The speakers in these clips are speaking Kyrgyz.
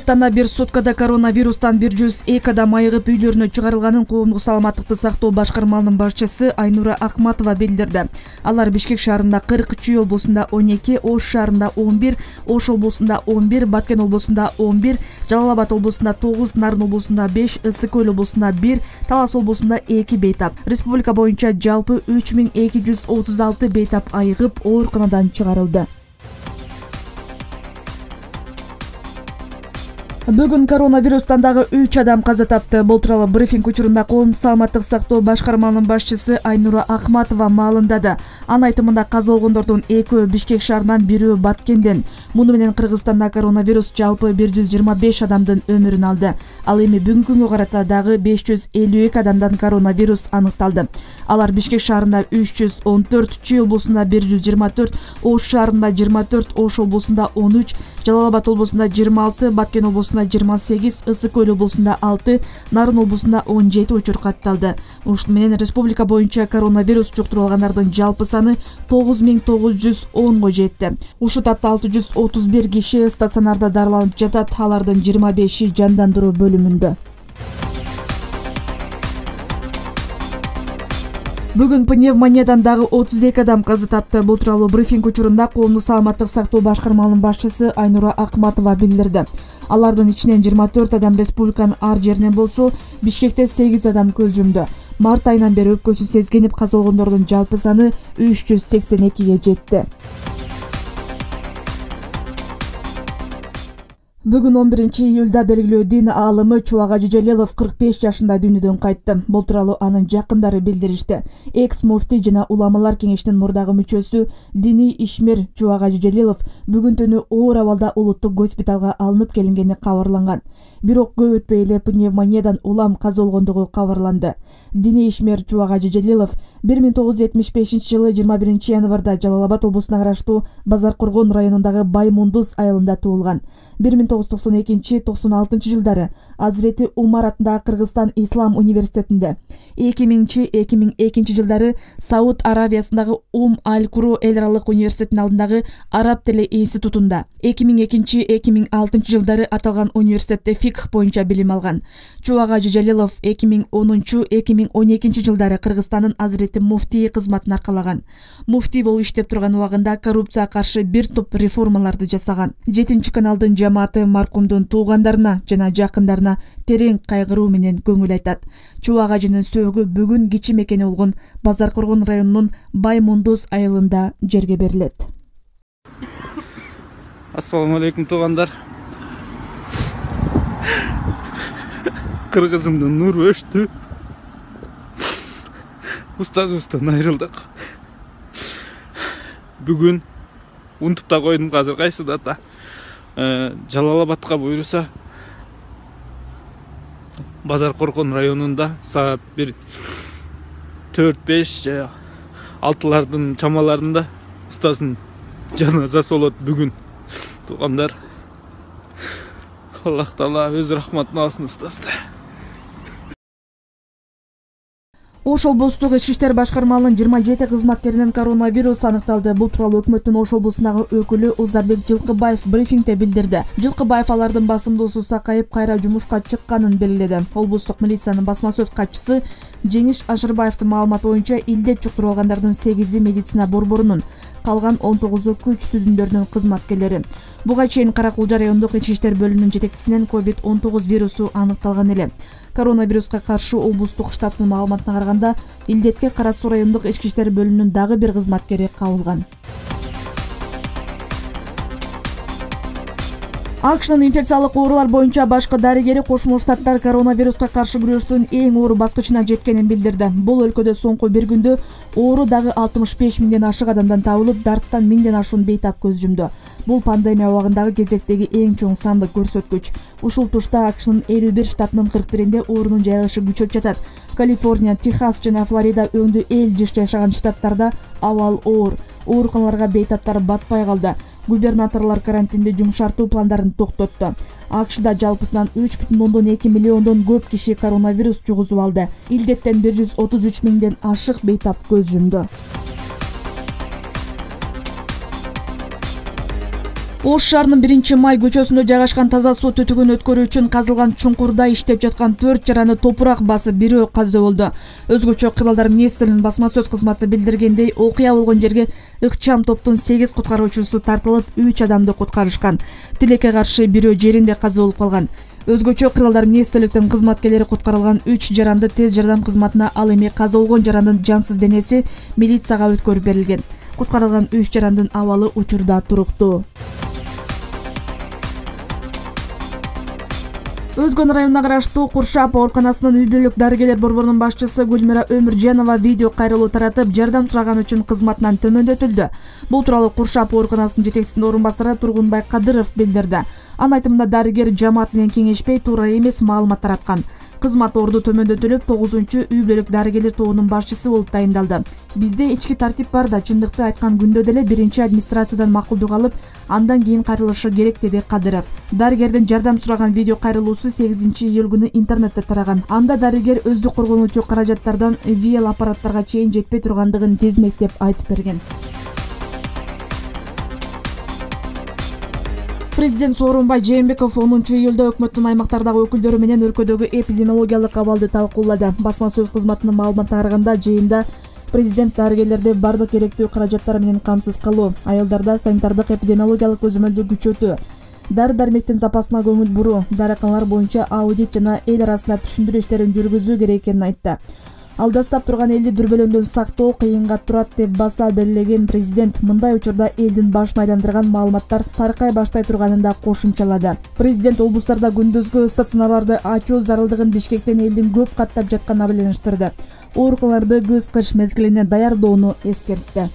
Кыргызстанда бир суткада коронавирустан 102 адам айыгып үйлөрүнө чыгарылганын коомдук саламаттыкты сактоо башкармалынын башчысы Айнура Акматова билдирди. Алар Бишкек шаарында 40, Чүй облусунда 12, Ош шаарында 11, Ош облусунда 11, Баткен облусунда 11, Жалал Абад облусунда 9, Нарын облусунда 5, Ысык Көл облусунда 1, Талас облусунда 2 бейтап. Республика боюнча жалпы 3236 бейтап айыгып ооруканадан чыгарылды. Бүгүн коронавирустан дагы 3 адам каза тапты. Бул тууралуу брифинг учурунда коомдук саламаттык сактоо башкармалынын башчысы Айнура Акматова маалымдады. Анын айтымында каза болгондордун 2-өө Бишкек шаарынан, 1-өө Баткенден. Муну менен Кыргызстанда коронавирус жалпы 125 адамдын өмүрүн алды. Ал эми бүгүнкү күнгө карата дагы 552 адамдан коронавирус аныкталды. Алар Бишкек шаарында 314, Чүй облусунда 124, Ош шаарында 24, Ош облусунда 13, Жалал Абад облусунда 26, Баткен облусунда 28, Ысык Көл облусунда 6, Нарын облусунда 17 учур катталды. Ушун менен республика боюнча коронавирус жуктуруп алгандардын жалпы саны 9910го жетти. Ушул тапта 631 киши стационарда дарыланып жатат, алардын 25и жандандыруу бөлүмүндө. Бүгүн пневмониядан дагы 32 адам каза тапты. Бул тууралуу брифинг учурунда коомдук саламаттык сактоо башкармалынын башчысы Айнура Акматова билдирди. Алардын ичинен 24 адам республиканын ар жеринен болсо, Бишкекте 8 адам көз жумду. Март айынан бери өпкөсү сезгенип каза болгондордун жалпы саны 382ге жетти. Бүгүн 11-июлда белгилүү дин аалымы Чубак Ажы Жалилов 45 жашында дүйнөдөн кайтты. Бул тууралуу анын жакындары билдиришти. Экс-муфти жана уламалар кеңешинин мурдагы мүчөсү диний ишмер Чубак Ажы Жалилов бүгүн түнү оор абалда улуттук госпиталга алынып келингени кабарланган. Бирок көп өтпөй эле пневмониядан улам каза болгондугу кабарланды. Диний ишмер Чубак Ажы Жалилов 1975-жылы 21 январда Жалал Абад облусуна караштуу Базаркоргон районундагы Баймундуз айылында туулган. 1992-96 жылдары Азирети Умар атындагы Кыргызстан Ислам университетинде, 2000-2002 жылдары Сауд Аравиясындагы Аль-Куро эл аралык университетинин алдындагы Араб тили институтунда, 2002-2006 жылдары аталган университетте фикх боюнча билим алган. Чубак Ажы Жалилов 2010-2012 жылдары Кыргызстандын Азирети муфтии кызматын аркалаган. Муфтий болуп иштеп турган убагында коррупцияга каршы бир топ реформаларды жасаган. 7-каналдын жамааты маркумдун туугандарына жана жакындарына терең кайгыруу менен көңүл айтат. Чубак Ажынын сөөгү бүгүн кичи мекени болгон Базаркоргон районунун Баймундуз айылында жерге берилет. Ассаламу алейкум туугандар. Кыргызымдын нуру өчтү. Устазыбыздан айрылдык. Бүгүн унутуп да койдум, азыр кайсы дата. Жалал Абадка буйруса Базаркоргон районунда саат 4-5 же 6-лардын чамаларында устаздын жаназасы болот бүгүн. Туугандар, Аллах Таала өз рахматын алсын устазды. Ош облустук ички иштер башкармалынын 27 кызматкеринен коронавирус аныкталды. Бул тууралуу өкмөттүн Ош облусундагы өкүлү Узарбек Жылкыбаев брифингде билдирди. Жылкыбаев алардын басымдуусу сакайып кайра жумушка чыкканын белгиледи. Облустук милициянын басма сөз катчысы Жеңиш Ашырбаевдин маалыматы боюнча илдет жуктуруп алгандардын 8-и медицина борборунун, калган 19-у күч түзүмдөрүнүн кызматкерлери. Буга чейин Каракулжа райондук ички иштер бөлүмүнүн жетекчисинен COVID-19 вирусу аныкталган эле. Коронавируска каршы облустук штабтын маалыматына караганда, илдетке Кара Суу райондук ички иштер бөлүмүнүн дагы бир кызматкери кабылган. АКШнын инфекциялык оорулар боюнча башкы дарыгери Кошмо Штаттар коронавируска каршы күрөштүн эң оор баскычына жеткенин билдирди. Бул өлкөдө соңку бир күндө оору дагы 65 миңден ашык адамдан табылып, дарттан 1000ден ашуун бейтап көз жумду. Бул пандемия убагындагы кезектеги эң чоң сандык көрсөткүч. Ушул тушта АКШнын 51 штатынын 41-де оорунун жайылышы күчөп жатат. Калифорния, Техас жана Флорида өңдүү эл жыш жашаган штаттарда абал оор. Ооруканаларга бейтаптар батпай калды. Губернаторлор карантинди жумшартуу пландарын токтотту. АКШда жалпысынан 3,2 миллиондон көп киши коронавирус жугузуп алды. Илдеттен 133 миңден ашык бейтап көз жумду. Ош шаарынын 1-май көчөсүндө жайгашкан таза суу түтүгүн өткөрүү үчүн казылган чуңкурда иштеп жаткан 4 жараны топурак басып, бирөө каза болду. Өзгөчө Кыргыздар министринин басма сөз кызматы билдиргендей, окуя болгон жерге ыкчам топтун 8 куткаруучусу тартылып, 3 адамды куткарышкан. Тилекке каршы бирөө жеринде каза болуп калган. Өзгөчө Кыргыздар министрликтин кызматкерлери куткарылган 3 жаранды тез жардам кызматына, ал эми каза болгон жарандын жансыз денеси милицияга өткөрүп берилген. Куткарылган 3 жарандын абалы учурда туруктуу. Өзгөн районуна караштуу Куршап ооруканасынын үй бүлөлүк дарыгерлер борборунун башчысы Гүлмира Өмүржанова видео кайрылуу таратып, жардам сураган үчүн кызматынан төмөндөтүлдү. Бул тууралуу Куршап ооруканасынын жетекчисинин орун басары Тургунбай Кадыров билдирди. Анын айтымында дарыгер жамаат менен кеңешпей, туура эмес маалымат тараткан. Кызмат орду төмөндөтүлүп, 9-үй бүлөлүк дарыгерлер тобунун башчысы болуп тайындалды. Бизде ички тартип бар да, чындыкты айткан күндө деле биринчи администрациядан макулдук алып, андан кийин кайрылышы керек, деди Кадыров. Дарыгердин жардам сураган видео кайрылуусу 8-июль күнү интернетте тараган. Анда дарыгер өздүк коргонуучу каражаттардан ВЛ аппараттарга чейин жетпей тургандыгын тизмектеп айтып берген. Президент Сооронбай Жээнбеков 10-июлда өкмөттүн аймактардагы өкүлдөрү менен өлкөдөгү эпидемиологиялык абалды талкуулады. Басма сөз кызматынын маалыматына караганда, жыйында президент дарыгерлерди бардык керектүү каражаттар менен камсыз кылуу, аялдарда санитардык эпидемиологиялык көзөмөлдү күчөтүү, дары-дармектин запасына көңүл буруу, дарыканалар боюнча аудит жана эл арасында түшүндүрүү иштерин жүргүзүү керек экенин айтты. Алдастап турган элди дүрбөлөңдөн сактоо кыйынга турат деп баса белгилеген президент мындай учурда элдин башын айландырган маалыматтар таркай баштай турганын да кошумчалады. Президент облустарда күндүзгү стационарларды ачуу зарылдыгын Бишкектен элдин көп каттап жатканына байланыштырды. Ооруканаларды көз кыш мезгилине даярдоону эскертти.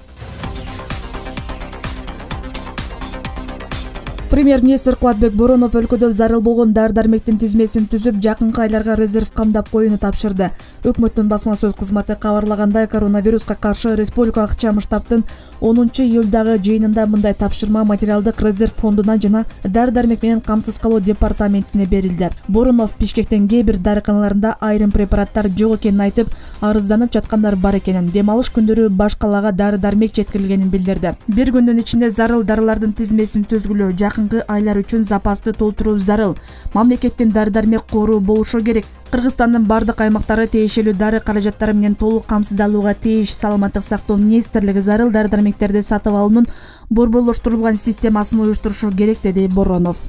Премьер-министр Кубатбек Боронов өлкөдө зарыл болгон дары-дармектин тизмесин түзүп, жакынкы айларга резерв камдап коюуну тапшырды. Өкмөттүн басма сөз кызматы кабарлагандай, коронавируска каршы республикалык ыкчам штабтын 10-июлдагы жыйынында мындай тапшырма материалдык резерв фондуна жана дары-дармек менен камсыз кылуу департаментине берилди. Боронов Бишкектен кээ бир дарыканаларында айрым препараттар жок экенин айтып, арызданып жаткандар бар экенин, дем алыш күндөрү баш калаага дары-дармек жеткирилгенин билдирди. Бир күндүн ичинде зарыл дарылардын тизмесин түзгүлө, жакынкы айлар үчүн запасты толтуруу зарыл. Мамлекеттин дары-дармек кору болушу керек. Кыргызстандын бардык аймактары тиешелүү дары каражаттары менен толук камсыздалууга тийиш. Саламаттык сактоо министрлиги зарыл дары-дармектерди сатып алуунун борборлоштурулган системасын уюштурушу керек, деди Боронов.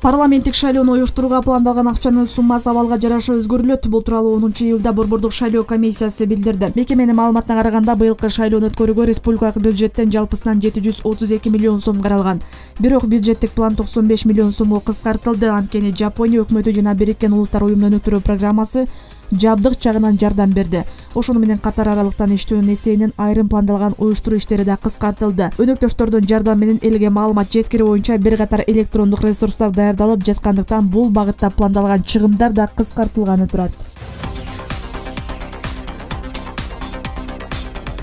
Парламенттик шайлоону уюштурууга пландалган акчанын суммасы абалга жараша өзгөрүлөт. Бул тууралуу 10-июлда борбордук шайлоо комиссиясы билдирди. Мекеменин маалыматына караганда, быйылкы шайлоону өткөрүүгө республикалык бюджеттен жалпысынан 732 миллион сом каралган. Бирок бюджеттик план 95 миллион сомго кыскартылды. Анткени Жапония өкмөтү жана Бириккен Улуттар уюмунун өнүктүрүү программасы жабдык жагынан жардам берди. Ошону менен катар аралыктан иштөөнүн эсебинен айрым пландалган уюштуруу иштери да кыскартылды. Өнөктөштөрдүн жардамы менен элге маалымат жеткирүү боюнча бир катар электрондук ресурстар даярдалып жаткандыктан, бул багытта пландалган чыгымдар да кыскартылганы турат.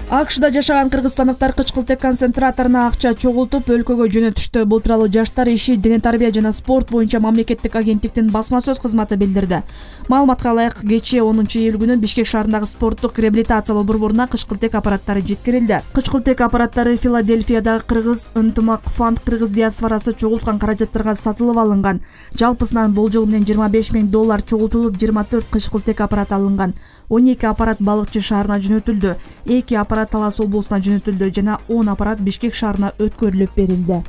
АКШда жашаган кыргызстандыктар кычкылтек концентраторуна акча чогултуп өлкөгө жөнөтүштү. Бул тууралуу Жаштар иши, дене тарбия жана спорт боюнча мамлекеттик агенттиктин басма сөз кызматы билдирди. Маалыматка ылайык, кечээ 10-июль күнү Бишкек шаарындагы спорттук реабилитациялоо борборуна кычкылтек аппараттары жеткирилди. Кычкылтек аппараттары Филадельфиядагы Кыргыз ынтымак фонд кыргыз диаспорасы чогулткан каражаттарга сатылып алынган. Жалпысынан болжол менен $25 000 чогултулуп, 24 кычкылтек аппарат алынган. 12 аппарат Балыкчы шаарына жөнөтүлдү, 2 аппарат Талас облусуна жөнөтүлдү жана 10 аппарат Бишкек шаарына өткөрүлүп берилди.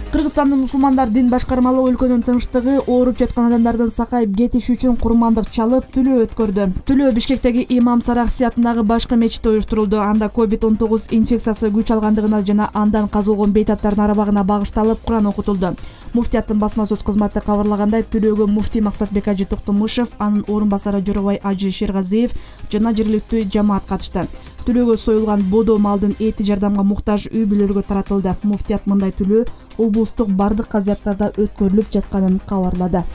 Кыргызстандын мусулмандар дин башкармалыгы өлкөнүн тынчтыгы, ооруп жаткан адамдардын сакайып кетиши үчүн курмандык чалып, тилөө өткөрдү. Тилөө Бишкектеги Имам Сарахси атындагы башкы мечитте уюштурулду. Анда COVID-19 инфекциясы күч алгандыгына жана андан каза болгон бейтаптардын арабагына багышталып Куран окутулду. Муфтияттын басма сөз кызматы кабарлагандай, тилөөгө муфтий Максатбек Ажы Токтомушев, анын орун басары Жоробай Ажы Шергазиев жана жергиликтүү жамаат катышты. Тилөөгө союлган бодо малдын эти жардамга муктаж үй бүлөлөргө таратылды. Муфтият мындай тилөө облустук бардык казыяттарда өткөрүлүп жатканын кабарлады.